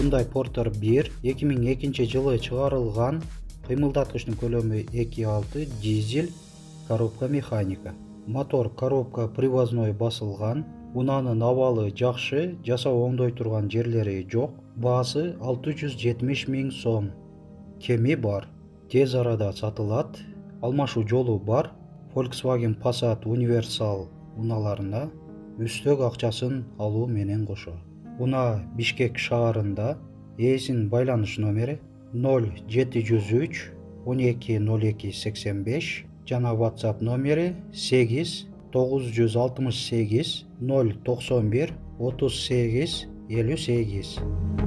Hyundai Porter 1 2002-жылы чыгарылган, кыймылдаткычтын көлөмү 2.6, дизель, коробка механика. Мотор коробка привозной басылган, унаанын абалы жакшы, жасап оңдой турган жерлери жок. Баасы 670 000 сом. Кеми бар, тез арада сатылат. Алмашуу жолу бар. Volkswagen Passat Universal унааларына үстөк акчасын алуу менен кошо. Унаа Бишкек шаарында. Ээсинин байланыш номери 0703 12 02 85 жана WhatsApp номери 8 968 091 38 58.